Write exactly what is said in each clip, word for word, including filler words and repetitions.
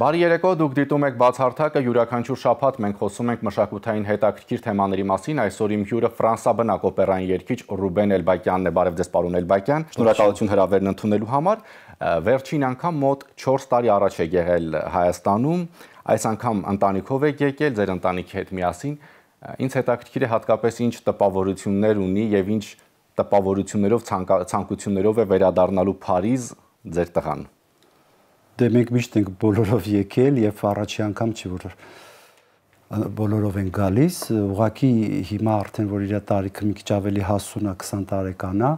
Բարի երեկո, դուք դիտում եք բացարձակը յուրաքանչյուր շաբաթ մենք խոսում ենք մշակութային հետաքրքիր թեմաների մասին։ Այսօր իմ հյուրը ֆրանսաբնակ օպերային երգիչ Ռուբեն Էլբակյանն է։ Բարև ձեզ, պարոն Էլբակյան։ Շնորհակալություն հրավերն ընդունելու համար։ Վերջին անգամ մոտ չորս տարի առաջ եք եղել Հայաստանում, այս անգամ ընտանիքով եք եկել, ձեր ընտանիքի հետ միասին։ Ինձ հետաքրքիր է հատկապես ինչ տպավորություններ ունի եւ ինչ տպավորություններով ցանկություններով է վերադառնալու Փարիզ ձեր տղան։ Դե մենք միշտ ենք բոլորով եկել եւ առաջի անգամ չի որ բոլորով են գալիս, ուղղակի հիմա արդեն որ իր տարիքը մի քիչ ավելի հասուն է, քսան տարեկան է,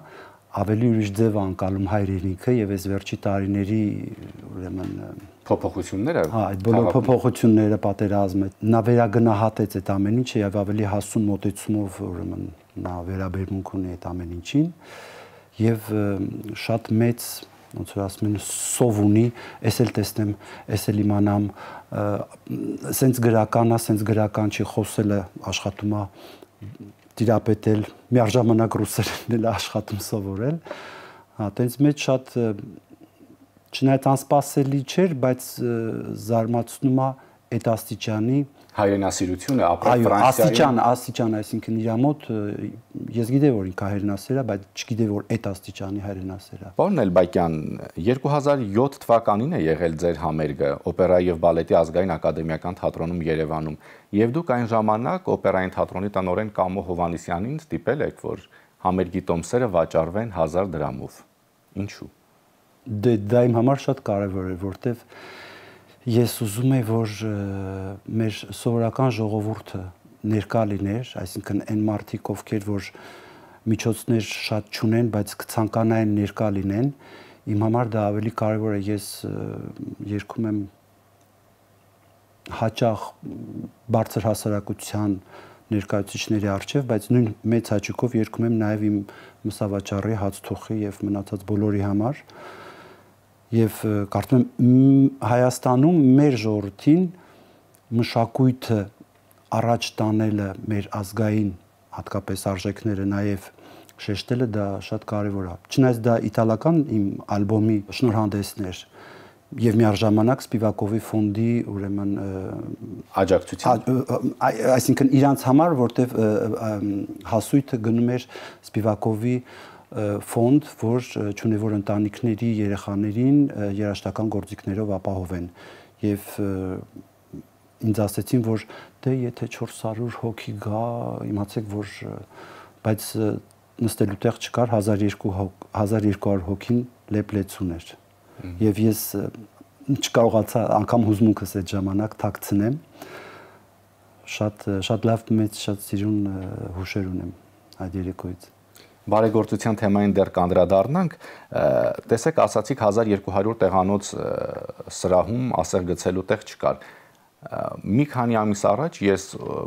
ավելի ուրիշ ձև անցալում հայրենիքը եւ այս վերջի տարիների ուրեմն փոփոխությունները, հա, այդ բոլոր փոփոխությունները, պատերազմը, նա վերագնահատեց այդ ամեն ինչը եւ ավելի հասուն մոտեցումով ուրեմն նա վերաբերմունք ունի այդ ամեն ինչին եւ շատ մեծ ոնց որ ասում են սով ունի, ես էլ տեսնեմ, ես էլ իմանամ, սենց գրական է, սենց գրական չի, խոսելը աշխատում է տիրապետել, միաժամանակ ռուսերենն էլ աշխատում սովորել, հա, տենց մեջ շատ չնայած անսպասելի չէր, բայց զարմացնում է այդ աստիճանի հայրենասիրությունը, ապրել Ֆրանսիայում։ Այո, աստիճան, աստիճան, այսինքն իր մոտ ես գիտեի որ ինքը հայրենասեր է, բայց չգիտեի որ այդ աստիճանի հայրենասեր է։ Պարոն Էլբակյան, երկու հազար յոթ թվականին է եղել ձեր համերգը օպերայի եւ բալետի ազգային ակադեմիական թատրոնում Երևանում, եւ դուք այն ժամանակ օպերային թատրոնի տնօրեն Կամո Հովհաննիսյանին ստիպել եք, որ համերգի տոմսերը վաճառվեն հազար դրամով։ Ինչու՞։ Դե դա իմ համար շատ կարեւոր է, որտեվ ես ուզում եմ, որ մեր սովորական ժողովուրդը ներկա լիներ, այսինքն այն մարդիկ, ովքեր որ միջոցներ շատ չունեն, բայց կցանկանային ներկա լինեն, իմ համար դա ավելի կարևոր է, ես երգում եմ հաճախ բարձր հասարակության ներկայացուցիչների առջև, բայց նույն մեծ հաճույքով երգում եմ նաև իմ մսավաճառի, հացթուխի եւ մնացած բոլորի համար։ Եվ կարծում եմ Հայաստանում մեր ժողովրդին մշակույթը առաջ տանելը մեր ազգային հատկապես արժեքները նաև շեշտելը դա շատ կարևոր է։ Չնայած դա իտալական իմ ալբոմի շնորհանդեսներ եւ միաժամանակ Սպիվակովի ֆոնդի ուրեմն աջակցություն, այսինքն իրանց համար, որտեվ հասույթը գնում էր Սպիվակովի ֆոնդ, որ չունի որ ընտանիքների երեխաներին երաժշտական գործիքներով ապահովեն եւ ինձ ասեցին որ դե եթե չորս հարյուր հոգի գա իմացեք որ բայց նստելու տեղ չկար հազար երկու հարյուր հոգին լեփլեցուն էր եւ ես չկարողացա անգամ հուզմունքս այդ ժամանակ թաքցնեմ շատ շատ լավ մեծ շատ սիրուն հուշեր ունեմ այդ երեկոյից Բարեգործության թեմային դեռ կանդրադառնանք, տեսեք ասացիք հազար երկու հարյուր տեղանոց սրահում ասեղ գցելու տեղ չկար։ Մի քանի ամիս առաջ ես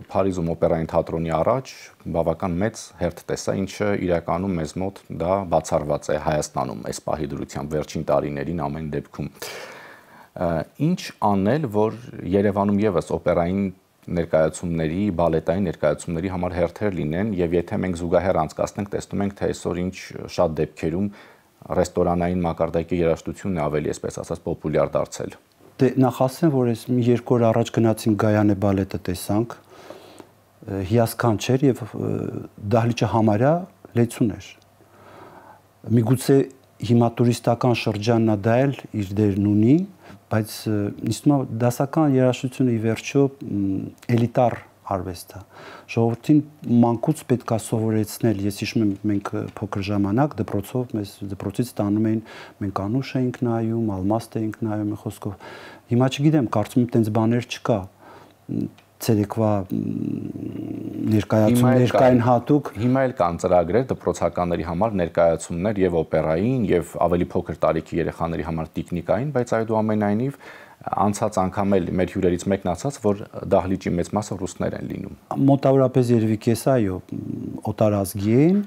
Փարիզում օպերային թատրոնի առաջ բավական մեծ հերթ տեսա, ինչը իրականում մեզ մոտ դա բացառված է Հայաստանում այս պահի դրությամբ վերջին տարիներին ամեն դեպքում։ Ինչ անել, որ Երևանում եւս օպերային ներկայացումների, բալետային ներկայացումների համար հերթեր լինեն եւ եթե մենք զուգահեռ անցկացնենք, տեսնում ենք թե այսօր ինչ շատ դեպքերում ռեստորանային մակարդակի երաժշտությունն է ավելի, այսպես ասած, պոպուլյար դարձել։ Դե նախ ասեմ, որ այս մի երկու օր առաջ գնացինք Գայանե բալետը տեսանք, հիասքանչ էր եւ դահլիճը համարյա լեցուն էր։ Միգուցե հիմա տուրիստական շրջանն է դա էլ իր դերն ունի, բայց ինձ թվում է դասական երաժշտությունը ի վերջո էլիտար արվեստ է։ Ժողովրդին մանկուց պետք է սովորեցնել, ես հիշում եմ մենք փոքր ժամանակ դպրոցով մեզ դպրոցից տանում էին, մենք անուշ էինք նայում, ալմաստ էինք նայում, խոսքով։ Հիմա չգիտեմ, կարծում եմ տենց բաներ չկա։ Ցերեկվա ներկայացում ներկային հատուկ հիմա էլ կան ծրագրեր դպրոցականների համար ներկայացումներ եւ օպերային եւ ավելի փոքր տարիքի երեխաների համար տիկնիկային, բայց այդուամենայնիվ անցած անգամ էլ մեր հյուրերից մեկն ասաց, որ դահլիճի մեծ մասը ռուսներ են լինում։ Մոտավորապես երևի կես այո, օտարազգի են,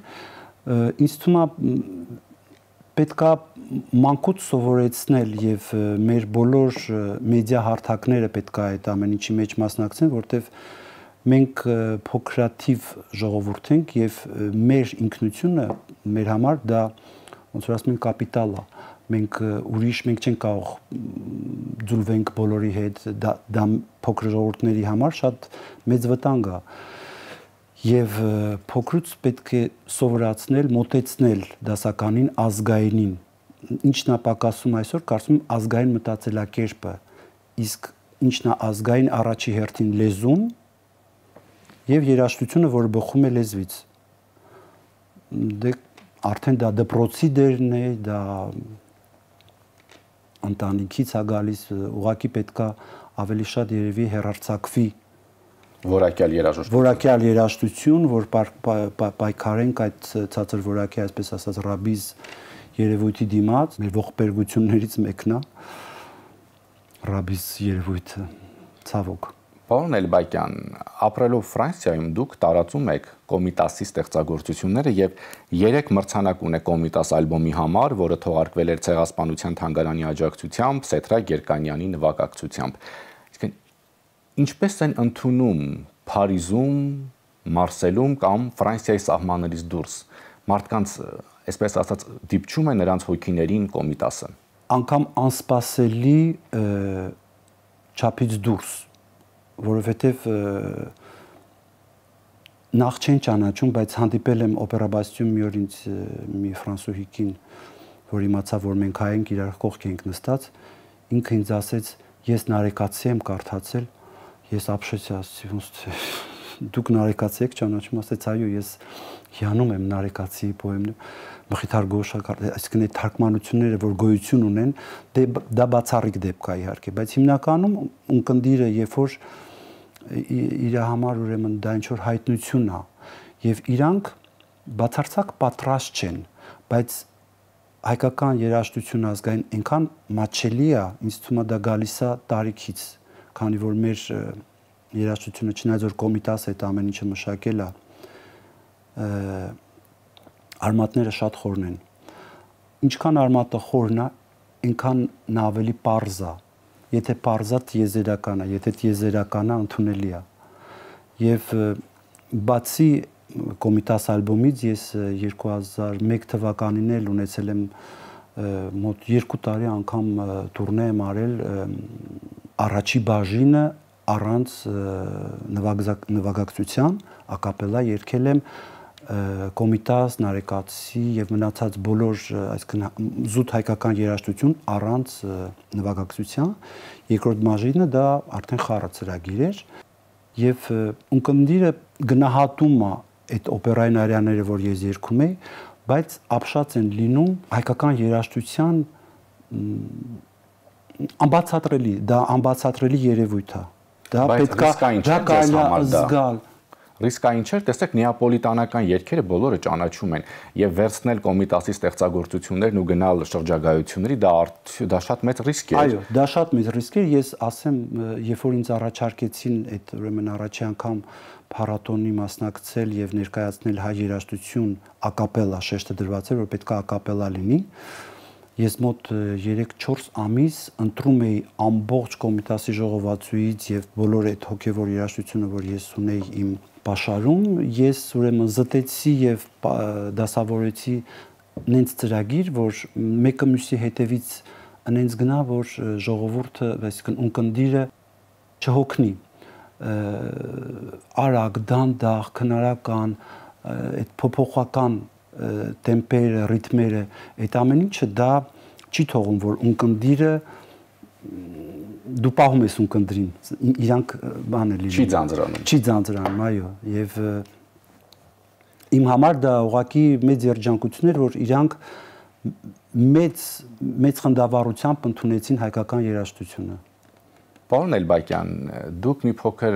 ինձ թվում է պետքա մանկուց սովորեցնել եւ մեր բոլոր մեդիա հարթակները պետքա այդ ամեն ինչի մեջ մասնակցեն, որտեվ մենք փոքրաթիվ ժողովուրդ ենք եւ մեր ինքնությունը մեր համար դա ոնց որ ասում են կապիտալ է, մենք ուրիշ մենք չենք կարող ձուլվենք բոլորի հետ, դա, դա փոքր ժողովուրդների համար շատ մեծ վտանգ է։ Եվ փոքրուց պետք է սովորացնել, մոտեցնել դասականին ազգայինին։ Ինչն է պակասում այսօր, կարծում եմ ազգային մտածելակերպը, իսկ ինչն է ազգային առաջի հերթին լեզուն եւ երաժշտությունը, որը բխում է լեզվից։ Դե արդեն դա դպրոցի դերն է, դա ընտանիքից է գալիս, ուղղակի պետքա ավելի շատ երևի հերարցակվի որակյալ երաժշտություն։ Որակյալ երաժշտություն, որ պայքարենք այդ ցածր որակի, այսպես ասած, ռաբիզ երևույթի դիմաց, մեր ողբերգություններից մեկն է ռաբիզ երևույթը, ցավոք։ Պարոն Էլբակյան, ապրելով Ֆրանսիայում դուք տարածում եք Կոմիտասի ստեղծագործությունները եւ երեք մրցանակ ունեք Կոմիտաս ալբոմի համար, որը թողարկվել էր Ցեղասպանության թանգարանի աջակցությամբ, Սեթրակ Երկանյանի նվագակցությամբ։ Իսկ ինչպես են ընդունում Փարիզում, Մարսելում կամ Ֆրանսիայի սահմաններից դուրս մարդկանց, այսպես ասած, դիպչում է նրանց հոգիներին Կոմիտասը։ Անկամ անսպասելի չափից դուրս, որովհետև նախ չեն ճանաչում, բայց հանդիպել եմ օպերաբաստիում մի օր ինձ մի ֆրանսուհի կին, որ իմացավ, որ մենք հայ ենք, իրար կողք ենք նստած, ինքը ինձ ասեց, ես նարեկացի եմ կարդացել, ես ապշեցի, ասեցի, ոնց թե դուք նարեկացի եք ճանաչում, ասեց, այո, ես հիանում եմ նարեկացի պոեմներ, Մխիթար Գոշակար, այսինքն այդ թարգմանությունները, որ գոյություն ունեն, դա բացառիկ դեպք է իհարկե, բայց հիմնականում ունկնդիրը, երբ որ իր համար ուրեմն դա ինչ որ հայտնություն է, եւ իրանք բացարձակ պատրաստ չեն, բայց հայկական երաժշտություն ազգային այնքան մաչելի է, ինձ թվում է դա գալիս է տարիքից, քանի որ մեր երաժշտությունը չնայած որ Կոմիտասը այդ ամեն ինչը մշակել է, արմատները շատ խորն են։ Ինչքան արմատը խորն է, այնքան նա ավելի պարզ է։ Եթե պարզ է, տիեզերական է, եթե տիեզերական է, ընդունելի է։ Եվ բացի Կոմիտաս ալբոմից ես երկու հազար մեկ թվականին էլ ունեցել եմ մոտ երկու տարի անգամ տուրնե եմ արել առաջի բաժինը առանց նվագակցության, ակապելա երգել եմ Կոմիտաս, նարեկացի եւ մնացած բոլոր, այսինքն զուտ հայկական երաժշտություն առանց նվագակցության, երկրորդ բաժինը դա արդեն խառը ծրագիր էր եւ ունկնդիրը գնահատում է այդ օպերային արիաները, որ ես երգում եի, բայց ապշած են լինում հայկական երաժշտության անբացատրելի, դա անբացատրելի երևույթ է։ Դա պետքա դա կարելի զգալ։ Ռիսկային չէր, տեսեք, նեապոլիտանական երգերը բոլորը ճանաչում են եւ վերցնել Կոմիտասի ստեղծագործություններն ու գնալ շրջագայությունների, դա դա շատ մեծ ռիսկ է։ Այո, դա շատ մեծ ռիսկ է, ես ասեմ, երբ որ ինձ առաջարկեցին այդ ուրեմն առաջի անգամ փառատոնի մասնակցել եւ ներկայացնել հայ երաժշտություն ակապելա, շեշտը դրված էր, որ պետք է ակապելա լինի, ես մոտ երեք-չորս ամիս ընտրում էի ամբողջ Կոմիտասի ժողովածուից եւ բոլոր այդ հոգեվոր երաժշտությունը, որ ես ունեի իմ պաշարում, ես ուրեմն զտեցի եւ դասավորեցի նենց ծրագիր, որ մեկը մյուսի հետևից նենց գնա, որ ժողովուրդը, այսինքն ունկնդիրը չհոգնի, արագ, դանդաղ, քնարական, այդ փոփոխական տեմպերը, ռիթմերը, այդ ամեն ինչը դա չի թողում, որ ունկնդիրը դու պահում ես ունկնդրին, իրանք բան է լինում։ Չի ձանձրանում։ Չի ձանձրանում, այո, եւ իմ համար դա ուղղակի մեծ երջանկություն էր, որ իրանք մեծ մեծ խնդավառությամբ ընդունեցին հայկական երաժշտությունը։ Պարոն Էլբակյան, դուք մի փոքր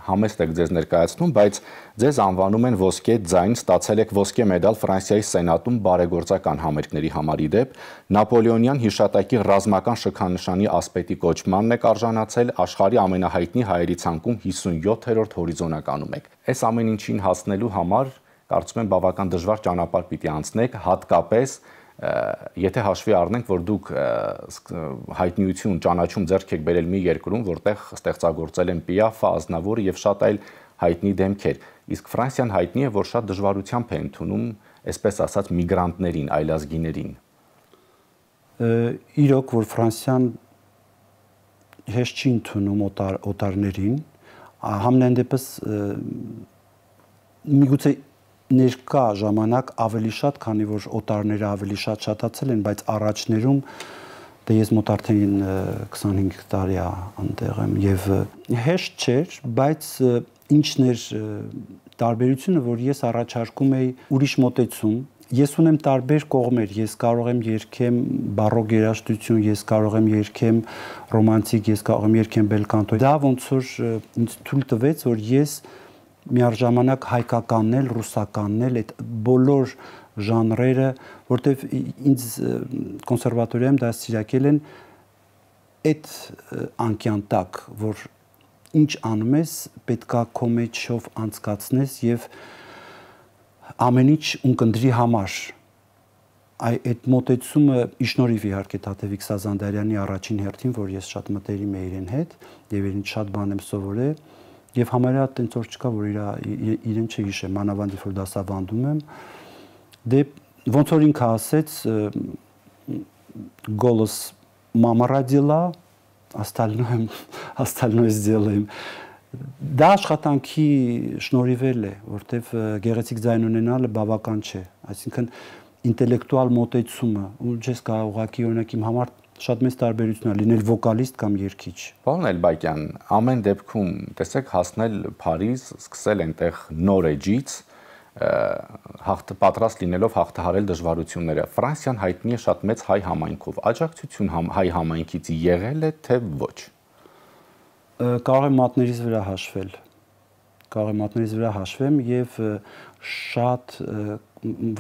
համեստ եք ձեզ ներկայացնում, բայց ձեզ անվանում են ոսկե ձայն, ստացել եք ոսկե մեդալ Ֆրանսիայի Սենատում բարեգործական համերգների համար իդեպ, Նապոլեոնյան հիշատակի ռազմական շքանշանի ասպետի կոչմանն եք արժանացել, աշխարհի ամենահայտնի հայերի ցանկում հիսունյոթերորդ հորիզոնականում եք։ Այս ամեն ինչին հասնելու համար կարծում եմ բավական դժվար ճանապարհ պիտի անցնեք, հատկապես եթե հաշվի առնենք, որ դուք հայտնիություն, ճանաչում ձեռք եք բերել մի երկրում, որտեղ ստեղծագործել են Պիաֆը, Ազնավուրը եւ շատ այլ հայտնի դեմքեր, իսկ Ֆրանսիան հայտնի է, որ շատ դժվարությամբ է ընդունում, այսպես ասած, միգրանտներին, այլազգիներին։ Իրոք, որ Ֆրանսիան հեշտ չի ընդունում օտար, օտարներին, համենայն դեպս միգուցե ներկա ժամանակ ավելի շատ, քանի որ օտարները ավելի շատ շատացել են, բայց առաջներում դե ես մոտ արդեն քսանհինգ տարի անտեղ եմ եւ հեշտ չէր, բայց ինչն էր տարբերությունը, որ ես առաջարկում էի ուրիշ մոտեցում։ Ես ունեմ տարբեր կողմեր, ես կարող եմ երգեմ բարոկ երաժշտություն, ես կարող եմ երգեմ ռոմանտիկ, ես կարող եմ երգեմ բելկանտո։ Դա ոնց որ ինձ թույլ տվեց, որ ես միաժամանակ հայկականն էլ, ռուսականն էլ, այդ բոլոր ժանրերը, որտեվ ինձ կոնսերվատորիայում դաստիարակել են այդ անկյան տակ, որ ինչ անում ես, պետքա քո մեջով անցկացնես եւ ամեն ինչ ունկնդրի համար։ Այդ մոտեցումը իշնորհիվ իհարկե Թաթևիկ Սազանդարյանի առաջին հերթին, որ ես շատ մտերիմ եմ իրեն հետ եւ իրեն շատ բան եմ սովորել եւ համարյա տենց որ չկա, որ իր իրեն չհիշեմ, մանավանդ որ դասավանդում եմ։ Դե ոնց որ ինքը ասեց, голос мама родила, остальное остальное сделаем։ Դա աշխատանքի շնորհիվել է, որտեվ գեղեցիկ ձայն ունենալը բավական չէ, այսինքն ինտելեկտուալ մոտեցումը, ու ես կարող ուղղակի օրինակ իմ համար շատ մեծ տարբերություն է լինել վոկալիստ կամ երգիչ։ Պարոն Էլբակյան, ամեն դեպքում, տեսեք, հասնել Փարիզ, սկսել այնտեղ նոր էջից, պատրաստ լինելով հաղթահարել դժվարությունները։ Ֆրանսիան հայտնի է շատ մեծ հայ համայնքով։ Աջակցություն հայ համայնքից եղել է, թե ոչ։ Կարող եմ մատներից վրա հաշվել։ Կարող եմ մատներից վրա հաշվեմ եւ շատ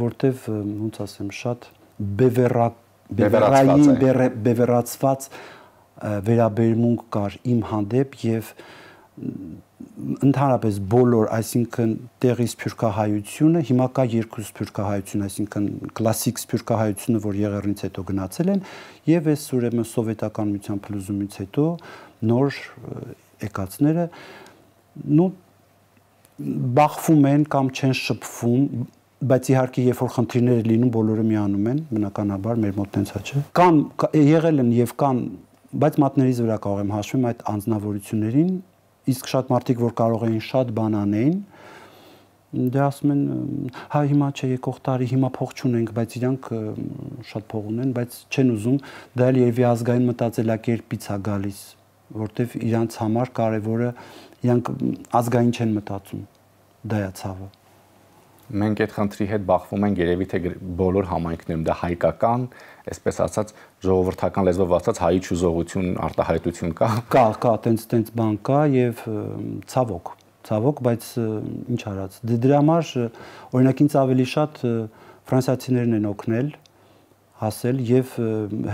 որտեվ ոնց ասեմ, շատ բևեռակ բևեռային բևեռացված վերաբերմունք կար իմ հանդեպ եւ ընդհանրապես բոլոր, այսինքն տեղի սփյուռքահայությունը, հիմա կա երկու սփյուռքահայություն, այսինքն կլասիկ սփյուռքահայությունը, որ եղեռնից հետո գնացել են, եւ այս ուրեմն սովետական միության փլուզումից հետո նոր եկածները նու բախվում են կամ չեն շփվում, բայց իհարկե երբ որ խնդիրներ լինում, բոլորը միանում են, բնականաբար մեր մոտ տենց է, չէ։ Կան եղել են եւ կան, բայց մատներից վրա կարող եմ հաշվեմ այդ անձնավորություններին, իսկ շատ մարդիկ, որ կարող էին շատ բան անեն, դե ասում են, հա հիմա չէ, եկող տարի հիմա փող չունենք, բայց իրանք շատ փող ունեն, բայց չեն ուզում, դա էլ երևի ազգային մտածելակերպից է գալիս, որտեվ իրանց համար կարևորը իրանք ազգային չեն մտածում, դա է ցավը։ Մենք այդ խնդրի հետ բախվում ենք երևի թե բոլոր համայնքներում, դա հայկական, այսպես ասած, ժողովրդական լեզվով ասած հայի չուզողություն, արտահայտություն կա։ Կա, կա, տենց տենց բան կա եւ ցավոք, ցավոք, բայց ինչ արած։ Դե դրա համար օրինակ ինձ ավելի շատ ֆրանսիացիներն են օգնել հասել եւ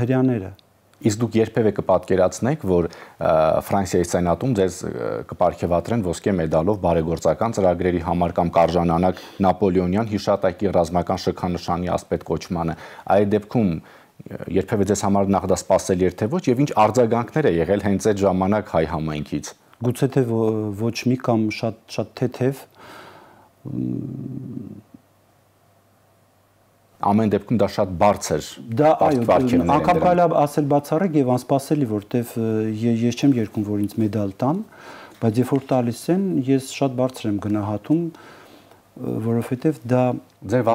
հрьяաները։ Իսկ դուք երբևէ կպատկերացնեք, որ Ֆրանսիայի սենատում ձեզ կպարգևատրեն ոսկե մեդալով բարեգործական ծրագրերի համար կամ կարժանանակ Նապոլեոնյան հիշատակի ռազմական շքանշանի ասպետ կոչմանը։ Այդ դեպքում երբևէ ձեզ համար նախ դա սպասելի էր թե ոչ եւ ինչ արձագանքներ է եղել հենց այդ ժամանակ հայ համայնքից։ Գուցե թե ոչ մի կամ շատ շատ թեթև ամեն դեպքում դա շատ բարձր դա այո, անգամ կարելի է ասել բացառիկ եւ անսպասելի, որտեվ ես չեմ երգում, որ ինձ մեդալ տան, բայց երբ որ տալիս են, ես շատ բարձր եմ գնահատում, որովհետեւ դա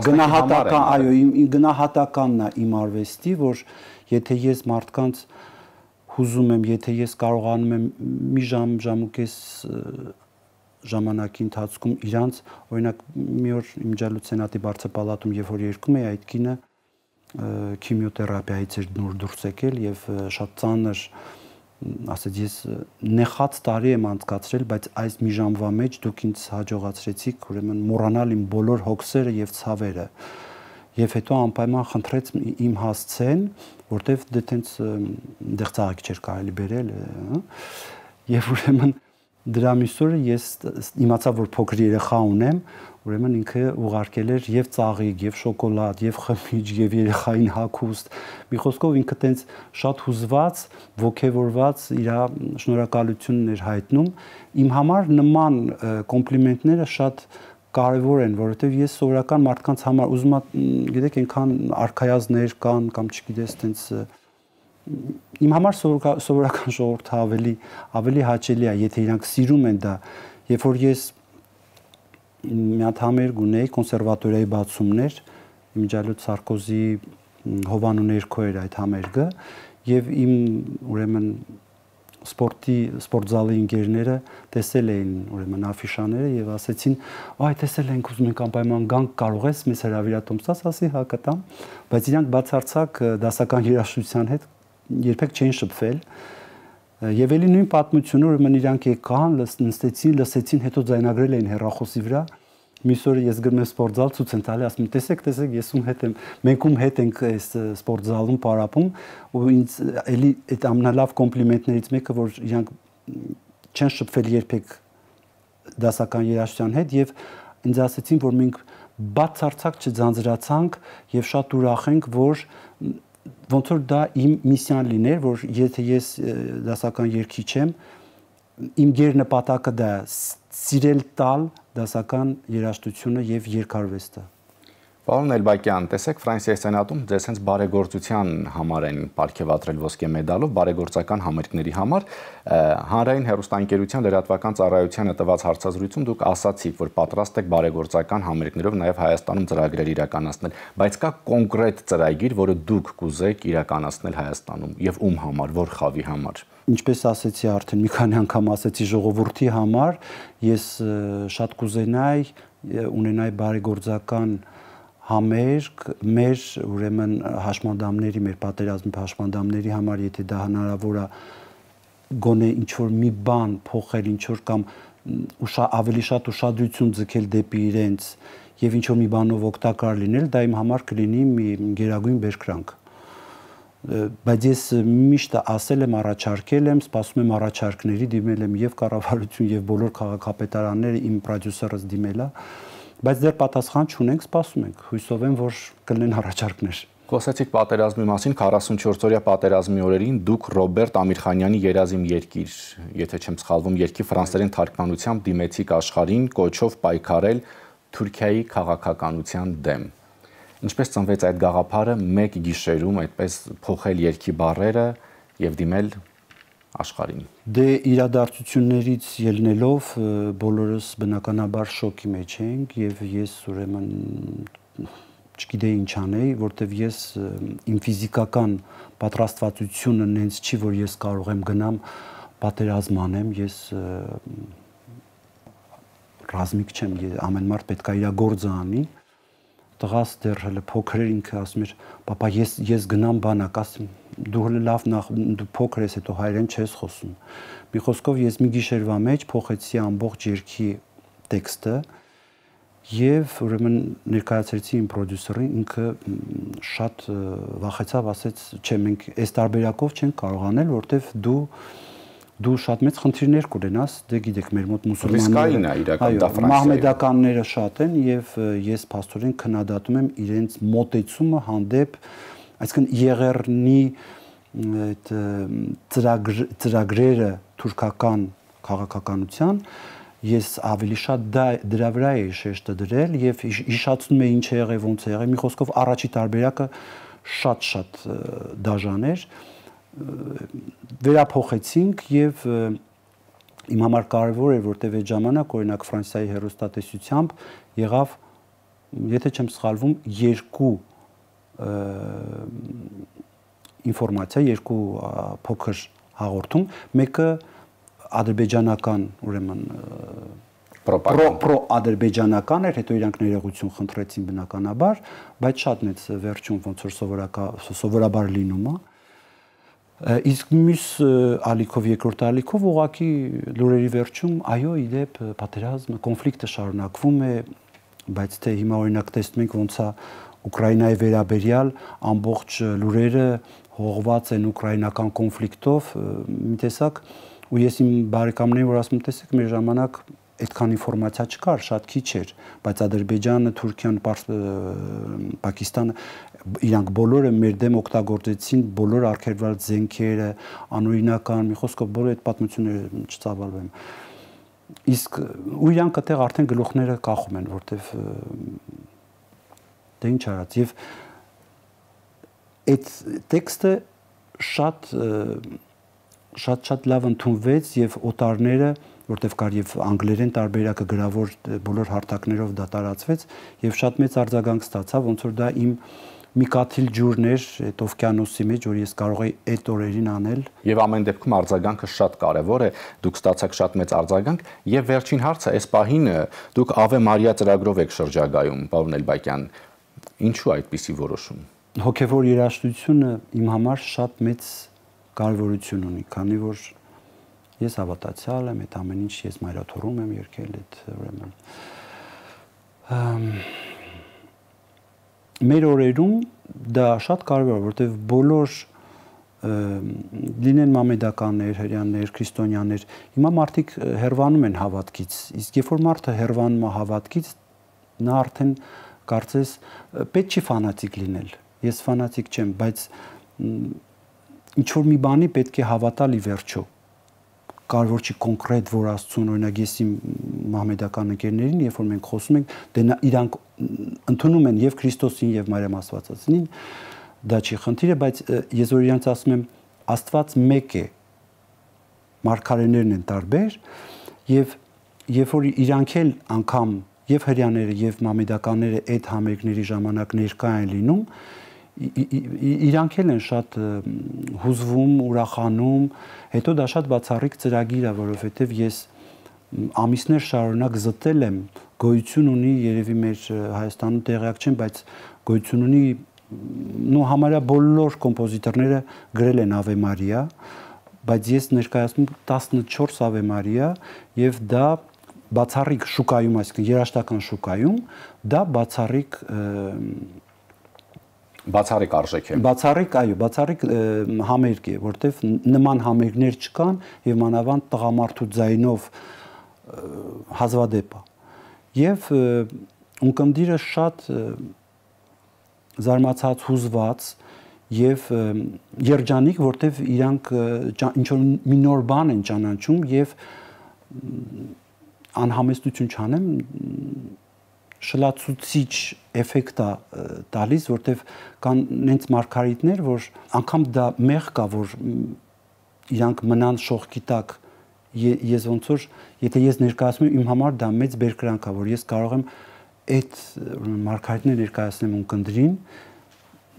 գնահատական, այո, իմ գնահատականն է իմ արվեստի, որ եթե ես մարդկանց հուզում եմ, եթե ես կարողանում եմ մի ժամ, ժամ ու կես ժամանակի ընթացքում իրանց, օրինակ մի օր իմ ջալուցենատի բարձրապալատում երբ որ երգում էի, այդ կինը քիմիոթերապիայից էր նոր դուրս եկել եւ շատ ծանր, ասած ես նեխած տարի եմ անցկացրել, բայց այս մի ժամվա մեջ դուք ինձ հաջողացրեցիք ուրեմն մոռանալ իմ բոլոր հոգսերը եւ ցավերը։ Եվ հետո անպայման խնդրեց իմ հասցեն, որտեվ դե տենց դեղ ծաղիկ չէր կարելի բերել, եւ ուրեմն դրա միսօրը ես իմացա, որ փոքր երեխա ունեմ, ուրեմն ինքը ուղարկել էր եւ ծաղիկ, եւ շոկոլադ, եւ խմիչք, եւ երեխային հագուստ։ Մի խոսքով ինքը տենց շատ հուզված, ոգևորված իր շնորհակալությունն էր հայտնում։ Իմ համար նման կոմպլիմենտները շատ կարևոր են, որովհետեւ ես սովորական մարդկանց համար ուզում եմ, գիտեք, այնքան արքայազներ կան կամ չգիտես, տենց իմ համար սովորական ժողովուրդը ավելի ավելի հաճելի է, եթե իրանք սիրում են դա, երբ որ ես մի հատ համերգ ունեի, կոնսերվատորիայի բացումներ, իմիջիայլոց Սարկոզի հովանու ներքո էր այդ համերգը, եւ իմ ուրեմն սպորտի սպորտզալի ընկերները տեսել էին ուրեմն աֆիշաները եւ ասեցին, «Այ տեսել ենք, ուզում ենք անպայման գանք, կարող ես մեզ հրավիրատոմսած», ասի հա կտամ, բայց իրանք բացարձակ դասական երաժշտության հետ երբեք չեն շփվել։ Եվ էլի նույն պատմությունը ուրեմն իրանք եկան, նստեցին, լսեցին, հետո ձայնագրել էին հեռախոսի վրա։ Մյուս օրը ես գնում եմ սպորտզալ, ցույց են տալի, ասում եմ, տեսեք, տեսեք, ես ում հետ եմ, մենք ում հետ ենք այս սպորտզալում պարապում, ու ինձ էլի այդ ամենալավ կոմպլիմենտներից մեկը, որ իրանք չեն շփվել երբեք դասական երաժշտության հետ, եւ ինձ ասեցին, որ մենք բացարձակ չձանձրացանք եւ շատ ուրախ ենք, որ ոնց որ դա իմ միսիան լիներ, որ եթե ես դասական երգիչ եմ, իմ գերնպատակը դա է, սիրել տալ դասական երաժշտությունը եւ երկարվեստը։ Պարոն Էլբակյան, տեսեք Ֆրանսիայի սենատում ձեզ հենց բարեգործության համար են պարգևատրել ոսկե մեդալով, բարեգործական համերգների համար։ Հանրային հեռուստաընկերության լրատվական ծառայությանը տված հարցազրույցում դուք ասացիք, որ պատրաստ եք բարեգործական համերգներով նաեւ Հայաստանում ծրագրեր իրականացնել, բայց կա կոնկրետ ծրագիր, որը դուք կուզեք իրականացնել Հայաստանում եւ ում համար, որ խավի համար։ Ինչպես ասեցի արդեն մի քանի անգամ ասեցի ժողովրդի համար, ես շատ կուզենայի ունենայի բարեգործական համերգ մեր ուրեմն հաշմանդամների, մեր պատերազմի հաշմանդամների համար, եթե դա հնարավոր է գոնե ինչ որ մի բան փոխել, ինչ որ կամ ավելի շատ ուշադրություն ձգել դեպի իրենց եւ ինչ որ մի բանով օգտակար լինել, դա իմ համար կլինի մի գերագույն բերկրանք։ Բայց ես միշտ ասել եմ, առաջարկել եմ, սպասում եմ առաջարկների, դիմել եմ եւ կառավարություն եւ բոլոր քաղաքապետարանները, իմ պրոդյուսերս դիմել է, բայց դեռ պատասխան չունենք, սպասում ենք, հույսով եմ, որ կլինեն առաջարկներ։ Խոսեցիք պատերազմի մասին, քառասունչորսօրյա պատերազմի օրերին դուք Ռոբերտ Ամիրխանյանի Երազիմ երկիր, եթե չեմ սխալվում, երկի ֆրանսերեն թարգմանությամբ դիմեցիք աշխարհին կոչով պայքարել Թուրքիայի քաղաքականության դեմ։ Ինչպես ծնվեց այդ գաղափարը մեկ գիշերում այդպես փոխել երկի բառերը եւ դիմել աշխարհին։ Դե իրադարձություններից ելնելով բոլորս բնականաբար շոկի մեջ ենք եւ ես ուրեմն չգիտեի ինչ անեի, որտեվ ես իմ ֆիզիկական պատրաստվածությունը նենց չի, որ ես կարող եմ գնամ պատերազմ անեմ, ես ռազմիկ չեմ, ամեն մարդ պետք է իր գործը անի։ Տղաս դեռ հələ փոքր էր, ինքը ասում էր, «Պապա, ես ես գնամ բանակ», ասում, «Դու հələ լավ նախ դու փոքր ես, հետո հայերեն չես խոսում»։ Մի խոսքով ես մի գիշերվա մեջ փոխեցի ամբողջ երգի տեքստը եւ ուրեմն ներկայացրեցի իմ պրոդյուսերին, ինքը շատ վախեցավ, ասեց, «Չէ, մենք այս տարբերակով չենք կարող անել, որտեվ դու դու շատ մեծ խնդիրներ կունենաս, դե գիտեք, մեր մոտ մուսուլմանները, այո, մահմեդականները շատ են եւ ես փաստորեն քննադատում եմ իրենց մոտեցումը հանդեպ, այսինքն Եղեռնի այդ ծրագրերը թուրքական քաղաքականության, ես ավելի շատ դրա վրա էի շեշտը դրել եւ հիշացնում եմ ինչ է եղել, ոնց է եղել, մի խոսքով առաջի տարբերակը շատ-շատ դաժան էր, վերափոխեցինք եւ իմ համար կարևոր էր, որտեվ այդ ժամանակ օրինակ Ֆրանսիայի հեռուստատեսությամբ եղավ, եթե չեմ սխալվում, երկու ինֆորմացիա, երկու փոքր հաղորդում, մեկը ադրբեջանական, ուրեմն պրո-ադրբեջանական էր, հետո իրանք ներողություն խնդրեցին բնականաբար, բայց շատ մեծ վերջում ոնց որ սովորաբար լինում է։ Իսկ մյուս ալիքով, երկրորդ ալիքով ուղղակի լուրերի վերջում, այո, իդեպ պատերազմը, կոնֆլիկտը շարունակվում է, բայց թե հիմա օրինակ տեսնում ենք ոնց է Ուկրաինայի վերաբերյալ ամբողջ լուրերը հողված են ուկրաինական կոնֆլիկտով, մի տեսակ, ու ես իմ բարեկամներին որ ասում եմ, տեսեք, մեր ժամանակ այդքան ինֆորմացիա չկար, շատ քիչ էր, բայց Ադրբեջանը, Թուրքիան, Պակիստանը իրանք բոլորը մեր դեմ օգտագործեցին բոլոր արգելված զենքերը, անօրինական, մի խոսքով բոլոր այդ պատմությունները չծավալվեմ։ Իսկ ու իրանք այդտեղ արդեն գլուխները կախում են, որտեվ դե ինչ արած եւ այդ տեքստը շատ շատ շատ լավ ընդունվեց եւ օտարները, որտեվ կար եւ անգլերեն տարբերակը գրավոր բոլոր հարթակներով դա տարածվեց եւ շատ մեծ արձագանք ստացավ, ոնց որ դա իմ մի կաթիլ ջուրն էր այդ օվկիանոսի մեջ, որ ես կարող եի այդ օրերին անել։ Եվ ամեն դեպքում արձագանքը շատ կարևոր է, դուք ստացաք շատ մեծ արձագանք եւ վերջին հարցը, այս պահին դուք Ave Maria ծրագրով եք շրջագայում, պարոն Էլբակյան, ինչու այդպիսի որոշում։ Հոգեվոր երաժշտությունը իմ համար շատ մեծ կարևորություն ունի, քանի որ ես հավատացյալ եմ, այդ ամեն ինչ ես մայրաթոռում եմ երգել, այդ ուրեմն մեր օրերում դա շատ կարևոր է, որովհետև բոլոր լինեն մամեդականներ, հրեաներ, քրիստոնյաներ, հիմա մարդիկ հեռվանում են հավատքից, իսկ երբ որ մարդը հեռվանում է հավատքից, նա արդեն կարծես պետք չի ֆանատիկ լինել։ Ես ֆանատիկ չեմ, բայց ինչ որ մի բանի պետք է հավատալ ի վերջո։ Կարևոր չի կոնկրետ որ Աստծուն, օրինակ ես իմ մահմեդական ընկերներին, երբ որ մենք խոսում ենք, դե իրանք ընդունում են եւ Քրիստոսին եւ Մարիամ Աստվածածին, դա չի խնդիրը, բայց ես որ իրանց ասում եմ, Աստված մեկ է, մարգարեներն են տարբեր եւ երբ որ իրանք էլ անգամ եւ հрьяաները եւ մամեդականները այդ համերգների ժամանակ ներկա են լինում, իրանք էլ են շատ հուզվում, ուրախանում, հետո դա շատ բացառիկ ծրագիր է, որովհետև ես ամիսներ շարունակ զտել եմ, գոյություն ունի, երևի մեր Հայաստանում տեղյակ չեմ, բայց գոյություն ունի, նո համարյա բոլոր կոմպոզիտորները գրել են Ave Maria, բայց ես ներկայացնում տասնչորս Ave Maria եւ դա բացառիկ շուկայում, այսինքն երաժշտական շուկայում, դա բացառիկ բացառիկ արժեք է։ Բացառիկ, այո, բացառիկ համերգ է, որտեվ նման համերգներ չկան եւ մանավանդ տղամարդու ձայնով հազվադեպ է։ Եւ ունկնդիրը շատ զարմացած, հուզված եւ երջանիկ, որտեվ իրանք ինչ որ մի նոր բան են ճանաչում եւ անհամեստություն չանեմ, շլացուցիչ էֆեկտ է տալիս, որտեվ կան նենց մարգարիտներ, որ անգամ դա մեղ կա, որ իրանք մնան շողքի տակ, ես ոնց որ, եթե ես ներկայացնում եմ, իմ համար դա մեծ բերկրանք է, որ ես կարող եմ այդ մարգարիտներ ներկայացնեմ ունկնդրին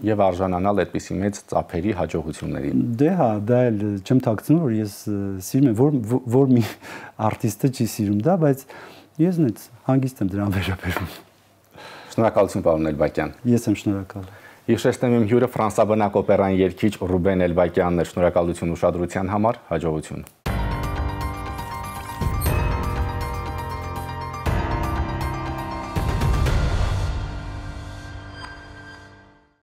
եւ արժանանալ այդպիսի մեծ ծափերի հաջողությունների։ Դե հա, դա էլ չեմ թաքցնում, որ ես սիրում եմ, որ որ մի արտիստը չի սիրում դա, բայց ես նենց հանգիստ եմ դրան վերաբերվում։ Շնորհակալություն, պարոն Էլբակյան։ Ես եմ շնորհակալ։ Հիշեցնեմ իմ հյուրը ֆրանսաբնակ օպերային երգիչ Ռուբեն Էլբակյանն է։ Շնորհակալություն ուշադրության համար, հաջողություն։